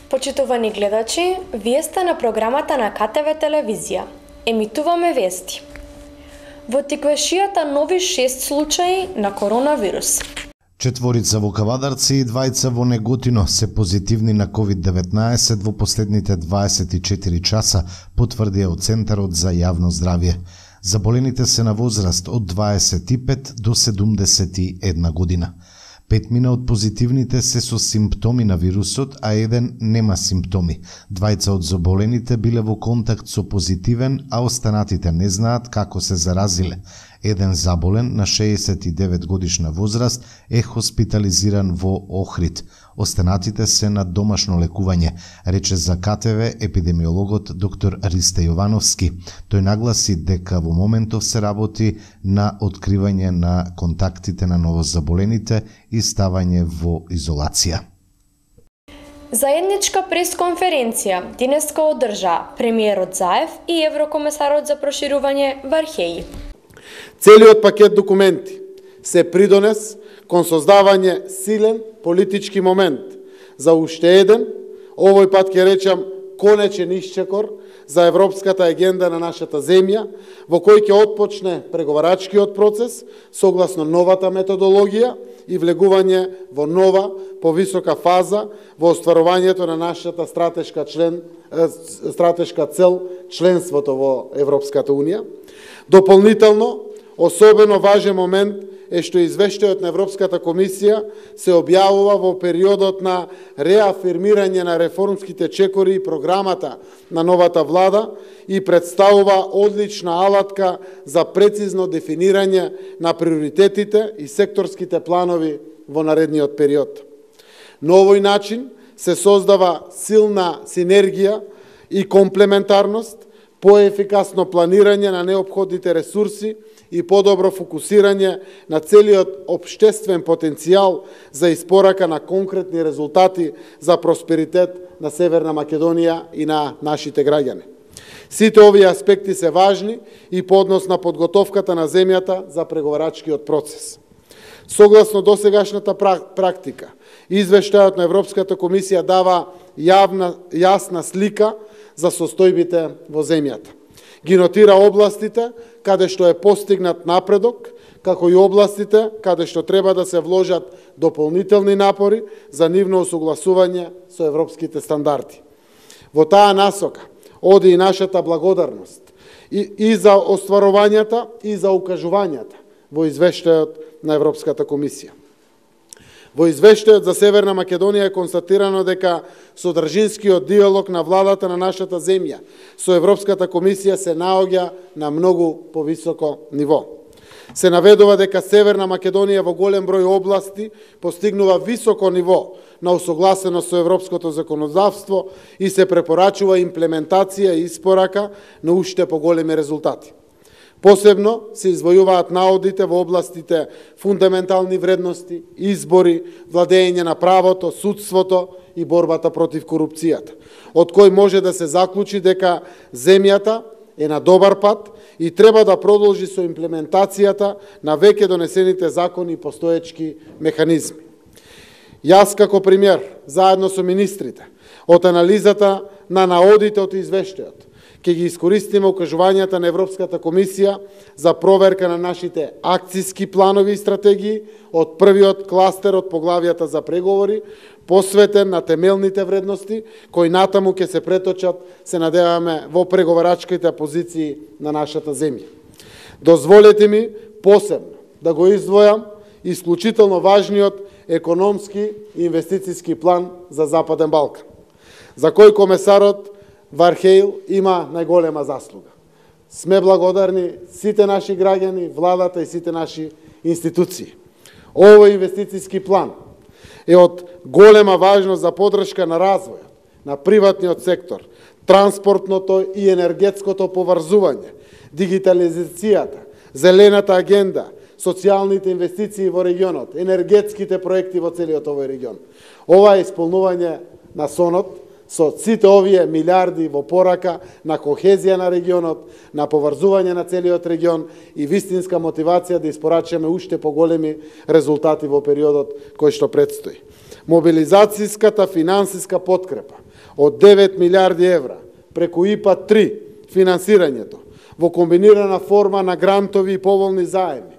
Почитувани гледачи, вие сте на програмата на КТВ телевизија. Емитуваме вести. Во Тиквешијата нови 6 случаи на коронавирус. 4 во Кавадарци и 2 во Неготино се позитивни на COVID-19 во последните 24 часа, потврдија од Центарот за јавно здравје. Заболените се на возраст од 25 до 71 година. 5 од позитивните се со симптоми на вирусот, а 1 нема симптоми. 2 од заболените биле во контакт со позитивен, а останатите не знаат како се заразиле. 1 заболен на 69 годишна возраст е хоспитализиран во Охрид. Останатите се на домашно лекување, рече за КТВ епидемиологот доктор Ристе Јовановски. Тој нагласи дека во моментов се работи на откривање на контактите на новозаболените и ставање во изолација. Заедничка пресконференција денеска одржа премиерот Заев и еврокомесарот за проширување Вархеј. Целиот пакет документи се придонес кон создавање силен политички момент за уште еден, овој пат ќе речам конечен исчекор за европската агенда на нашата земја, во кој ќе отпочне преговарачкиот процес согласно новата методологија и влегување во нова, повисока фаза во остварувањето на нашата стратешка цел членството во Европската Унија. Дополнително, особено важен момент е што извештајот на Европската комисија се објавува во периодот на реафирмирање на реформските чекори и програмата на новата влада и представува одлична алатка за прецизно дефинирање на приоритетите и секторските планови во наредниот период. На овој начин се создава силна синергија и комплементарност, поефикасно планирање на неопходните ресурси и подобро фокусирање на целиот општествен потенцијал за испорака на конкретни резултати за просперитет на Северна Македонија и на нашите граѓани. Сите овие аспекти се важни и по однос на подготовката на земјата за преговарачкиот процес. Согласно досегашната практика, извештајот на Европската комисија дава јасна слика за состојбите во земјата. Ги нотира областите каде што е постигнат напредок, како и областите каде што треба да се вложат дополнителни напори за нивно усогласување со европските стандарди. Во таа насока оди и нашата благодарност и за остварувањата и за укажувањата во извештајот на Европската комисија. Во извештајот за Северна Македонија е констатирано дека содржинскиот диалог на владата на нашата земја со Европската комисија се наоѓа на многу повисоко ниво. Се наведува дека Северна Македонија во голем број области постигнува високо ниво на усогласеност со европското законодавство и се препорачува имплементација и испорака на уште поголеми резултати. Посебно се извојуваат наодите во областите фундаментални вредности, избори, владење на правото, судството и борбата против корупцијата, од кој може да се заклучи дека земјата е на добар пат и треба да продолжи со имплементацијата на веќе донесените закони и постоечки механизми. Јас како премиер, заедно со министрите, од анализата на наодите од извештајот, ќе ги искористиме укажувањата на Европската комисија за проверка на нашите акцијски планови и стратегии од првиот кластер од поглавијата за преговори, посветен на темелните вредности, кои натаму ќе се преточат, се надеваме, во преговарачките позиции на нашата земја. Дозволете ми посебно да го издвојам исклучително важниот економски и инвестицијски план за Западен Балкан, за кој комесарот Вархеј има најголема заслуга. Сме благодарни сите наши граѓани, владата и сите наши институции. Овој инвестицијски план е од голема важност за поддршка на развојот на приватниот сектор, транспортното и енергетското поврзување, дигитализацијата, зелената агенда, социјалните инвестиции во регионот, енергетските проекти во целиот овој регион. Ова е исполнување на сонот со сите овие милиарди во порака на кохезија на регионот, на поврзување на целиот регион и вистинска мотивација да испорачаме уште поголеми резултати во периодот кој што предстои. Мобилизацијската финансиска подкрепа од 9 милиарди евра преку ИПА 3 финансирањето во комбинирана форма на грантови и поволни заеми,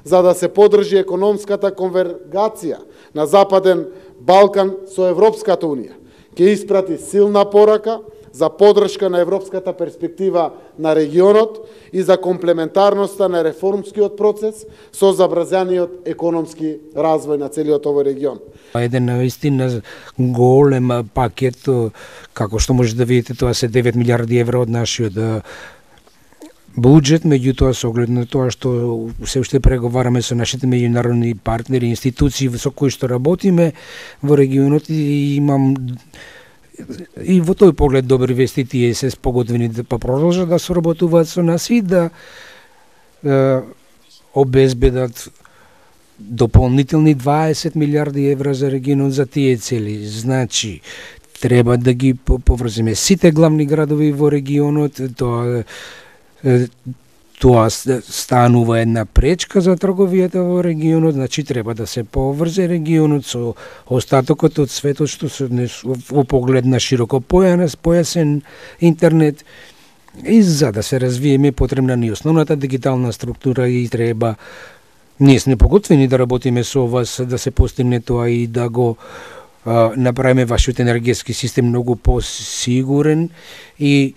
за да се подржи економската конвергација на Западен Балкан со Европската Унија, ќе испрати силна порака за подршка на европската перспектива на регионот и за комплементарноста на реформскиот процес со забрзаниот економски развој на целиот овој регион. Еден наистина голем пакет, како што може да видите, тоа се 9 милиарди евра од нашиот буџет, меѓутоа со оглед на тоа што се уште преговараме со нашите меѓународни партнери, институции со кои што работиме во регионот, и имам и во тој поглед добри вести, тие се спогодвени да продолжат да соработуваат со нас и да обезбедат дополнителни 20 милиарди евра за регионот за тие цели. Значи, треба да ги поврземе сите главни градови во регионот. Тоа станува една пречка за трговијата во регионот, значи треба да се поврзе регионот со остатокот од светот, што се во поглед на широко појасен интернет. И за да се развиеме потребна ни основната дигитална структура и треба, ние сме поготвени да работиме со вас, да се постигне тоа и да го направиме вашиот енергетски систем многу посигурен и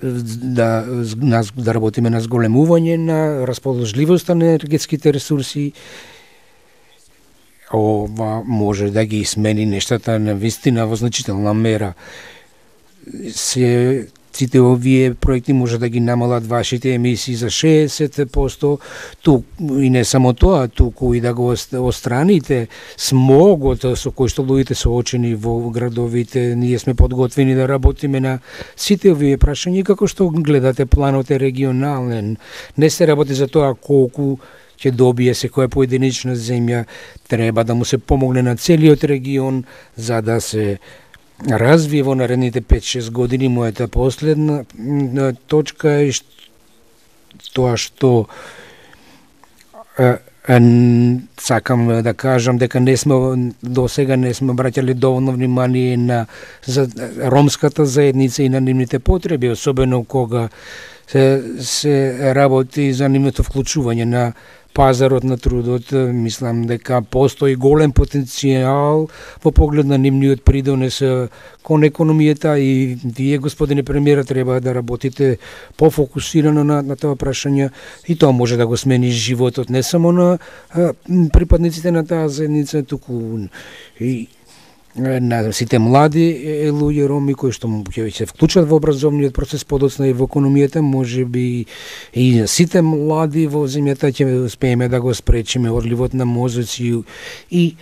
да работиме на зголемување на расположливоста на енергетските ресурси. Ова може да ги смени нештата на вистина во значителна мера. Сите овие проекти може да ги намалат вашите емисии за 60%, и не само тоа, туку и да го остраните смогот со кој што луѓето се очени во градовите. Ние сме подготвени да работиме на сите овие прашања, како што гледате планот е регионален. Не се работи за тоа колку ќе добие секоја поединечна земја, треба да му се помогне на целиот регион за да се развие во наредните 5-6 години. Мојата последна точка е тоа што сакам да кажам дека до сега не сме обраќали доволно внимание на ромската заедница и на нивните потреби, особено кога се работи за нивното вклучување на пазарот на трудот. Мислам дека постои голем потенцијал во поглед на нивниот придонес кон економијата и вие, господине премиер, треба да работите пофокусирано на тоа прашање и тоа може да го смени животот не само на припадниците на таа заедница, туку и на сите млади луѓе роми кои што ќе се вклучат во образовниот процес, подоцна и во економијата. Може би и сите млади во земјата ќе успееме да го спречиме одливот на мозоци и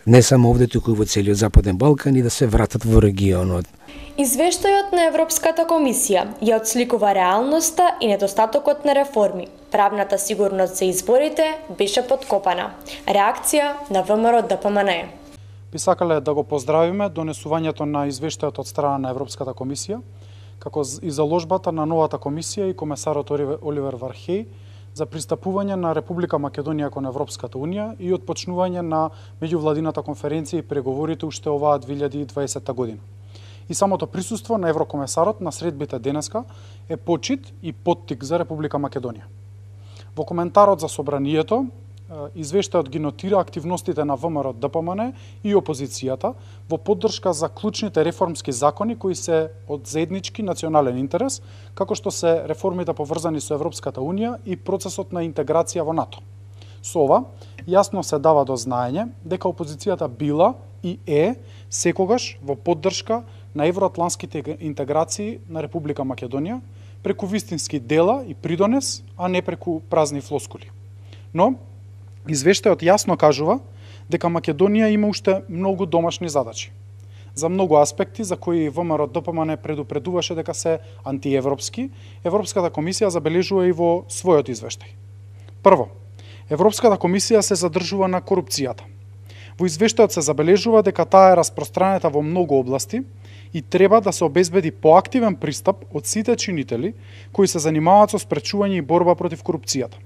не само овде, туку и во целиот Западен Балкан, и да се вратат во регионот. Извештајот на Европската комисија ја отсликува реалноста и недостатокот на реформи. Правната сигурност за изборите беше подкопана. Реакција на ВМРО ДПМН. Би сакале да го поздравиме донесувањето на извештајот од страна на Европската комисија, како и заложбата на новата комисија и комесарот Оливер Вархеј за пристапување на Република Македонија кон Европската Унија и отпочнување на меѓувладината конференција и преговорите уште оваа 2020 година. И самото присуство на еврокомесарот на средбите денеска е почит и поттик за Република Македонија. Во коментарот за собранието, извештајот ги нотира активностите на ВМРО ДПМН и опозицијата во поддршка за клучните реформски закони кои се од заеднички национален интерес, како што се реформите поврзани со Европската Унија и процесот на интеграција во НАТО. Со ова, јасно се дава до знаење дека опозицијата била и е секогаш во поддршка на евроатлантските интеграции на Република Македонија преку вистински дела и придонес, а не преку празни флоскули. Но извештајот јасно кажува дека Македонија има уште многу домашни задачи. За многу аспекти за кои ВМРО ДПМН предупредуваше дека се антиевропски, Европската комисија забележува и во својот извештај. Прво, Европската комисија се задржува на корупцијата. Во извештајот се забележува дека таа е распространета во многу области и треба да се обезбеди поактивен пристап од сите чинители кои се занимаваат со спречување и борба против корупцијата.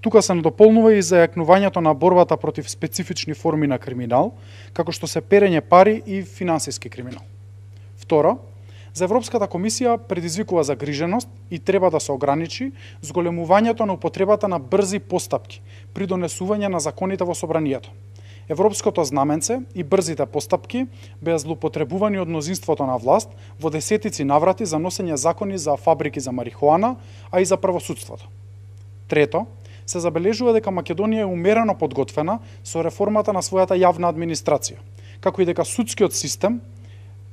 Тука се надополнува и зајакнувањето на борбата против специфични форми на криминал, како што се перење пари и финансиски криминал. Второ, за Европската комисија предизвикува загриженост и треба да се ограничи зголемувањето на употребата на брзи постапки при донесување на законите во собранието. Европското знаменце и брзите постапки беа злоупотребувани од мнозинството на власт во десетици наврати за носење закони за фабрики за марихуана, а и за правосудството. Трето, се забележува дека Македонија е умерено подготвена со реформата на својата јавна администрација, како и дека судскиот систем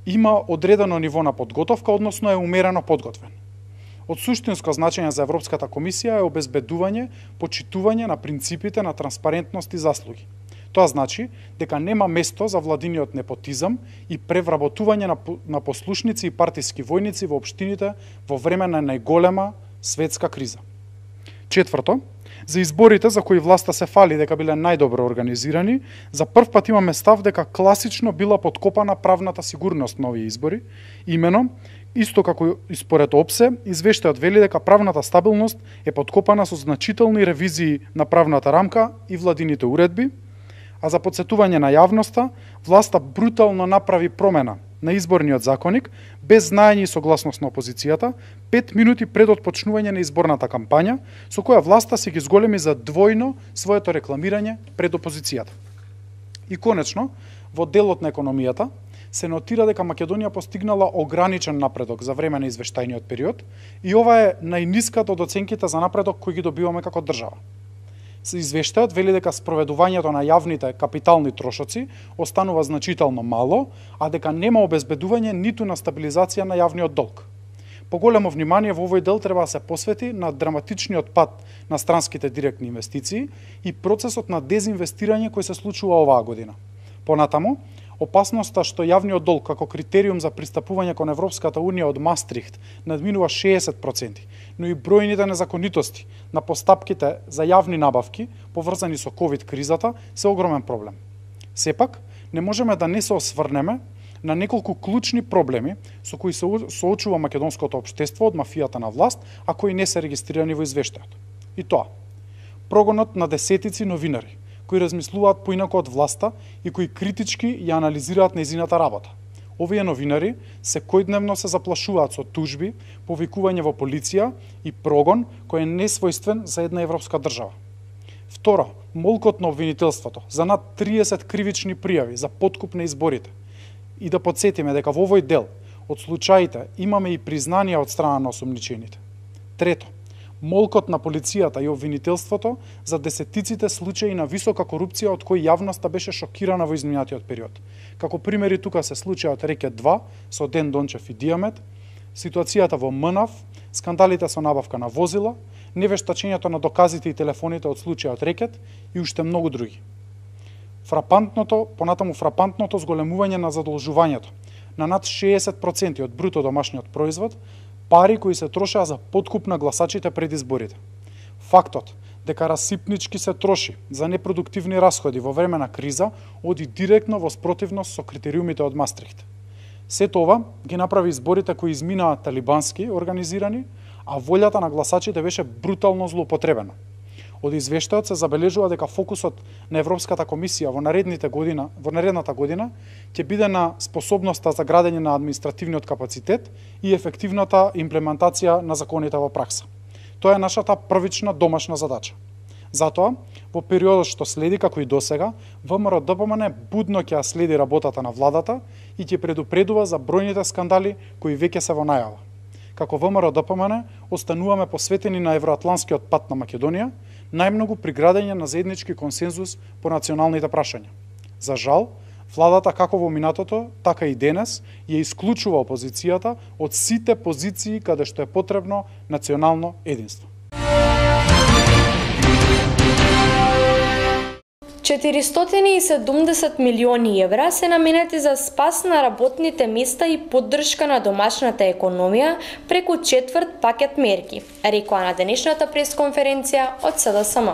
има одредено ниво на подготовка, односно е умерено подготвен. Од суштинско значење за Европската комисија е обезбедување, почитување на принципите на транспарентност и заслуги. Тоа значи дека нема место за владиниот непотизам и превработување на послушници и партиски војници во општините во време на најголема светска криза. Четврто, за изборите за кои власта се фали дека биле најдобро организирани, за прв пат имаме став дека класично била подкопана правната сигурност на овие избори. Имено, исто како и според ОПСЕ, извештајот вели дека правната стабилност е подкопана со значителни ревизии на правната рамка и владините уредби, а за подсетување на јавноста, власта брутално направи промена на изборниот законник без знаење и согласност на опозицијата 5 минути пред отпочнување на изборната кампања, со која власта се ги зголеми за двојно своето рекламирање пред опозицијата. И конечно, во делот на економијата се нотира дека Македонија постигнала ограничен напредок за време на извештајниот период и ова е најниската од оценките за напредок кои ги добиваме како држава. Извештајот вели дека спроведувањето на јавните капитални трошоци останува значително мало, а дека нема обезбедување ниту на стабилизација на јавниот долг. Поголемо внимание во овој дел треба да се посвети на драматичниот пад на странските директни инвестиции и процесот на дезинвестирање кој се случува оваа година. Понатаму, опасноста што јавниот долг како критериум за пристапување кон Европската Унија од Мастрихт надминува 60%, но и бројните незаконитости на постапките за јавни набавки поврзани со ковид кризата се огромен проблем. Сепак, не можеме да не се осврнеме на неколку клучни проблеми со кои се соочува македонското општество од мафијата на власт, а кои не се регистрирани во извештајот. И тоа, прогонот на десетици новинари кои размислуваат поинако од власта и кои критички ја анализираат нејзината работа. Овие новинари секојдневно се заплашуваат со тужби, повикување во полиција и прогон кој е несвојствен за една европска држава. Второ, молкот на обвинителството за над 30 кривични пријави за подкуп на изборите. И да подсетиме дека во овој дел од случаите имаме и признанија од страна на осумничените. Трето, молкот на полицијата и обвинителството за десетиците случаи на висока корупција од кои јавноста беше шокирана во изминатиот период. Како примери тука се случајот Рекет 2 со Ден Дончев и Диамет, ситуацијата во МНАВ, скандалите со набавка на возила, невештачењето на доказите и телефоните од случајот Рекет и уште многу други. Понатаму фрапантното зголемување на задолжувањето на над 60% од бруто домашниот производ, пари кои се трошеа за подкуп на гласачите пред изборите. Фактот дека расипнички се троши за непродуктивни расходи во време на криза оди директно во спротивност со критериумите од Мастрихт. Сето ова ги направи изборите кои изминаа талибански организирани, а волјата на гласачите беше брутално злоупотребена. Од извештајот се забележува дека фокусот на Европската комисија во наредната година ќе биде на способноста за градење на административниот капацитет и ефективната имплементација на законите во пракса. Тоа е нашата првична домашна задача. Затоа, во периодот што следи, како и досега, ВМРО-ДПМН будно ќе ја следи работата на владата и ќе предупредува за бројните скандали кои веќе се во најава. Како ВМРО-ДПМН остануваме посветени на евроатланскиот пат на Македонија, најмногу при градење на заеднички консензус по националните прашања. За жал, владата како во минатото, така и денес ја исклучува опозицијата од сите позиции каде што е потребно национално единство. 470 милиони евра се наменети за спас на работните места и поддршка на домашната економија преку четврт пакет мерки, рекоа на денешната пресконференција од СДСМ.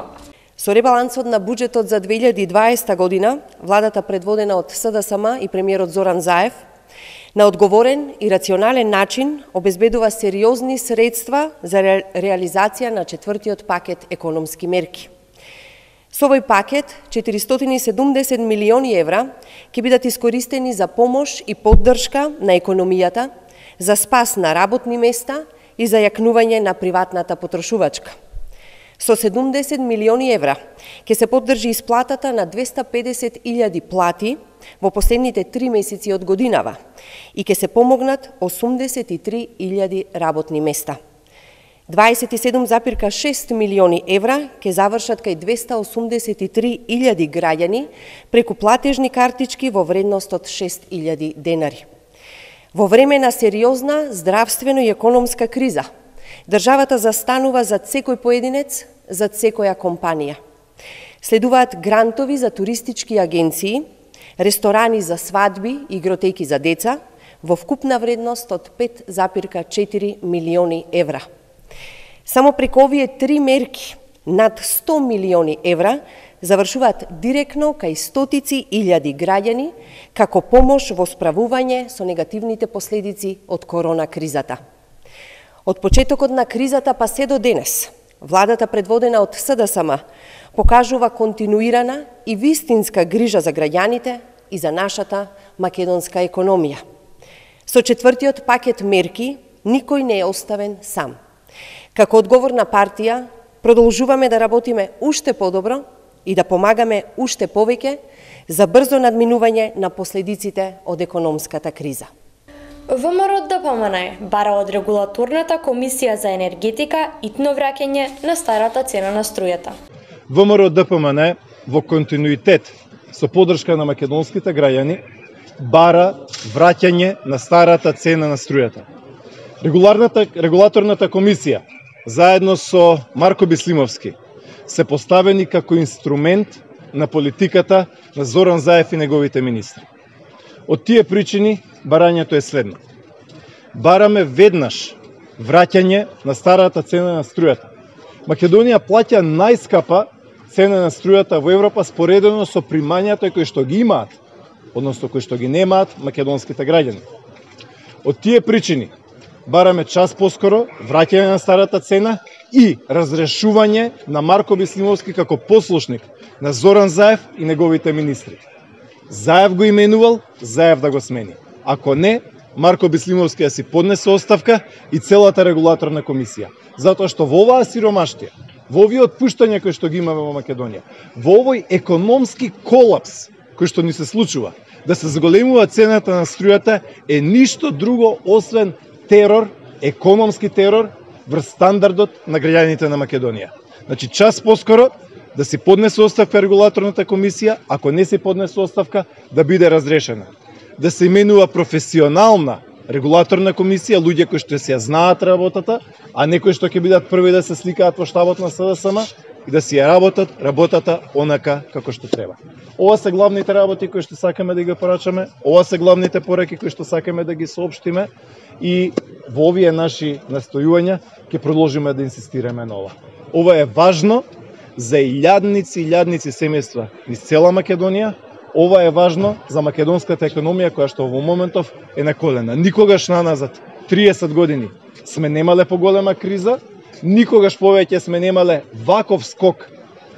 Со ребалансот на буџетот за 2020 година, владата предводена од СДСМ и премиерот Зоран Заев, на одговорен и рационален начин обезбедува сериозни средства за реализација на четвртиот пакет економски мерки. Со овој пакет, 470 милиони евра ќе бидат искористени за помош и поддршка на економијата, за спас на работни места и за јакнување на приватната потрошувачка. Со 70 милиони евра ќе се поддржи исплатата на 250.000 плати во последните 3 месеци од годинава и ќе се помогнат 83.000 работни места. 27,6 милиони евра ќе завршат кај 283.000 граѓани преку платежни картички во вредност од 6.000 денари. Во време на сериозна здравствено и економска криза, државата застанува зад секој поединец, зад секоја компанија. Следуваат грантови за туристички агенции, ресторани за свадби и игротеки за деца во вкупна вредност од 5,4 милиони евра. Само преку овие 3 мерки, над 100 милиони евра завршуваат директно кај стотици илјади граѓани како помош во справување со негативните последици од корона кризата. Од почетокот на кризата па се до денес, владата предводена од СДСМ покажува континуирана и вистинска грижа за граѓаните и за нашата македонска економија. Со четвртиот пакет мерки никој не е оставен сам. Како одговорна партија продолжуваме да работиме уште подобро и да помагаме уште повеќе за брзо надминување на последиците од економската криза. ВМРО ДПМН бара од регулаторната комисија за енергетика итно враќање на старата цена на струјата. ВМРО ДПМН во континуитет со поддршка на македонските граѓани бара враќање на старата цена на струјата. Регулаторната комисија заедно со Марко Бислимовски се поставени како инструмент на политиката на Зоран Заев и неговите министри. Од тие причини барањето е следно. Бараме веднаш враќање на старата цена на струјата. Македонија плаќа најскапа цена на струјата во Европа споредено со примањата кои што ги имаат, односно кои што ги немаат македонските граѓани. Од тие причини бараме час поскоро враќање на старата цена и разрешување на Марко Бислимовски како послушник на Зоран Заев и неговите министри. Заев го именувал, Заев да го смени. Ако не, Марко Бислимовски да си поднесе оставка и целата регулаторна комисија. Затоа што во оваа сиромаштија, во овие отпуштања кои што ги имаме во Македонија, во овој економски колапс кој што ни се случува, да се зголемува цената на струјата е ништо друго освен терор, економски терор врз стандардот на граѓаните на Македонија. Значи, час поскоро да си поднесе оставка регулаторната комисија, ако не си поднесе оставка, да биде разрешена. Да се именува професионална регулаторна комисија, луѓе кои што си ја знаат работата, а не кои што ќе бидат први да се сликаат во штабот на СДСМ и да си ја работат работата онака како што треба. Ова се главните работи кои што сакаме да ги порачаме, ова се главните пораки кои што сакаме да ги соопштиме и во овие наши настојувања ќе продолжиме да инсистираме на ова. Ова е важно за илјадници и илјадници семејства низ цела Македонија. Ова е важно за македонската економија која што во моментов е на колена. Никогаш наназад 30 години сме немале поголема криза, никогаш повеќе сме немале ваков скок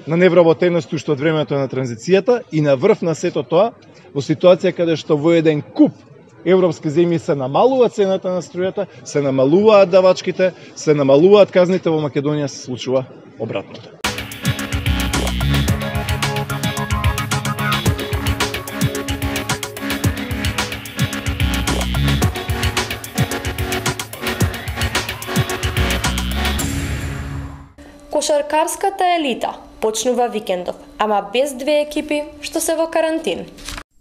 на невработеност уште од времето на транзицијата и на врв на сето тоа во ситуација каде што во еден куп европски земји се намалува цената на струјата, се намалуваат давачките, се намалуваат казните, во Македонија се случува обратното. Кошаркарската елита почнува викендов, ама без две екипи што се во карантин.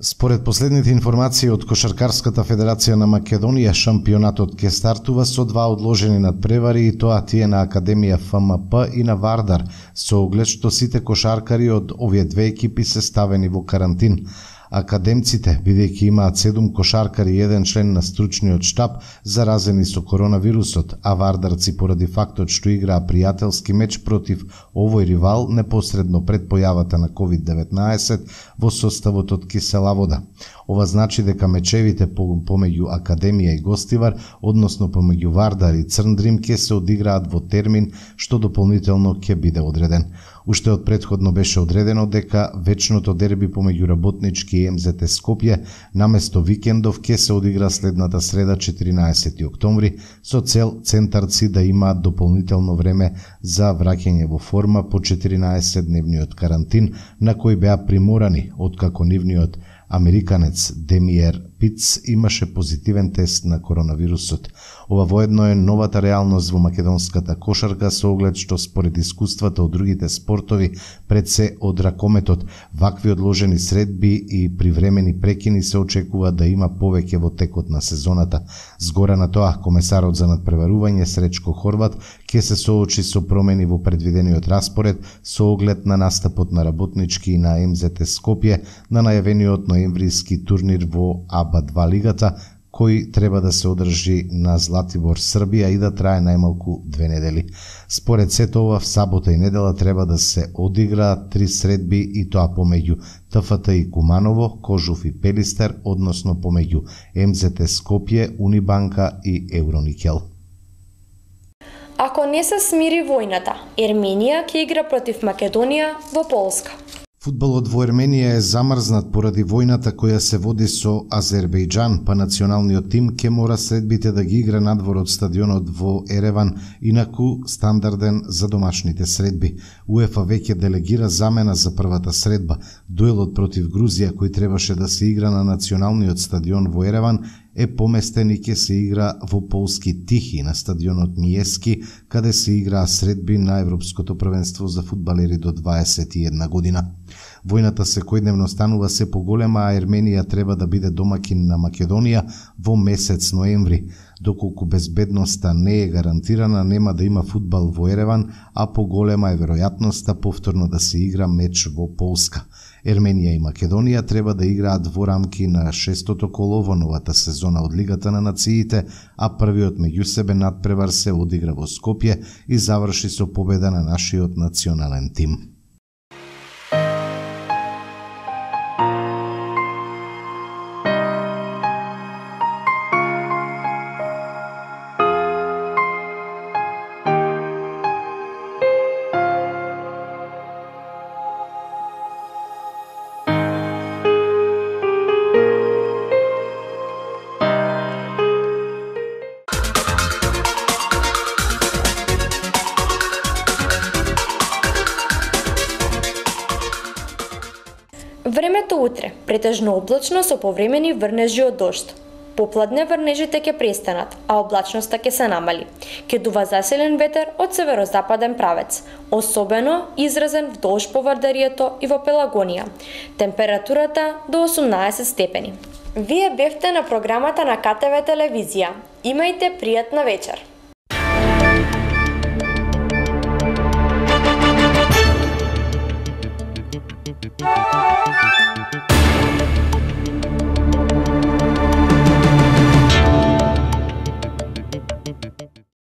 Според последните информации од Кошаркарската федерација на Македонија, шампионатот ќе стартува со 2 одложени надпревари и тоа тие на Академија ФМП и на Вардар, со оглед што сите кошаркари од овие две екипи се ставени во карантин. Академците, бидејќи имаат 7 кошаркари и 1 член на стручниот штаб заразени со коронавирусот, а вардарци поради фактот што играа пријателски меч против овој ривал непосредно пред појавата на COVID-19 во составот од кисела вода. Ова значи дека мечевите помеѓу Академија и Гостивар, односно помеѓу Вардар и Црн Дрим, ќе се одиграат во термин што дополнително ќе биде одреден. Уште од претходно беше одредено дека вечното дерби помеѓу Работнички и МЗТ Скопје наместо викендов ќе се одигра следната среда 14 октомври со цел центарци да имаат дополнително време за враќање во форма по 14-дневниот карантин на кој беа приморани откако нивниот американец Демиер Пиц имаше позитивен тест на коронавирусот. Ова воедно е новата реалност во македонската кошарка со оглед што според искуствата од другите спортови, пред се од ракометот, вакви одложени средби и привремени прекини се очекува да има повеќе во текот на сезоната. Згора на тоа, комесарот за надпреварување Сречко Хорват ќе се соочи со промени во предвидениот распоред со оглед на настапот на Работнички и на МЗТ Скопје на најавениот ноемвриски турнир во АБА-2 лигата, кој треба да се одржи на Златибор, Србија и да трае најмалку 2 недели. Според сето ова, в сабота и недела треба да се одиграат 3 средби и тоа помеѓу ТФТ и Куманово, Кожув и Пелистер, односно помеѓу МЗТ Скопје, Унибанка и Евроникел. Ако не се смири војната, Ерменија ќе игра против Македонија во Полска. Фудбалот во Ерменија е замрзнат поради војната која се води со Азербејџан, па националниот тим ќе мора средбите да ги игра надвор од стадионот во Ереван, инаку стандарден за домашните средби. УЕФА веќе делегира замена за првата средба. Дуелот против Грузија, кој требаше да се игра на националниот стадион во Ереван, е поместен и ќе се игра во полски Тихи на стадионот Миески, каде се играа средби на Европското првенство за фудбалери до 21 година. Војната секојдневно станува се поголема, а Ерменија треба да биде домакин на Македонија во месец ноември. Доколку безбедноста не е гарантирана, нема да има фудбал во Ереван, а поголема е веројатноста повторно да се игра меч во Полска. Ерменија и Македонија треба да играат во рамки на 6-тото коло во новата сезона од Лигата на нациите, а првиот меѓусебен надпревар се одигра во Скопје и заврши со победа на нашиот национален тим. Времето утре, претежно облачно со повремени врнежи од дожд. Попладне врнежите ќе престанат, а облачноста ќе се намали. Ќе дува заселен ветер од северозападен правец, особено изразен вдолж по Вардарието и во Пелагонија. Температурата до 18 степени. Вие бевте на програмата на КТВ телевизија. Имајте пријатна вечер.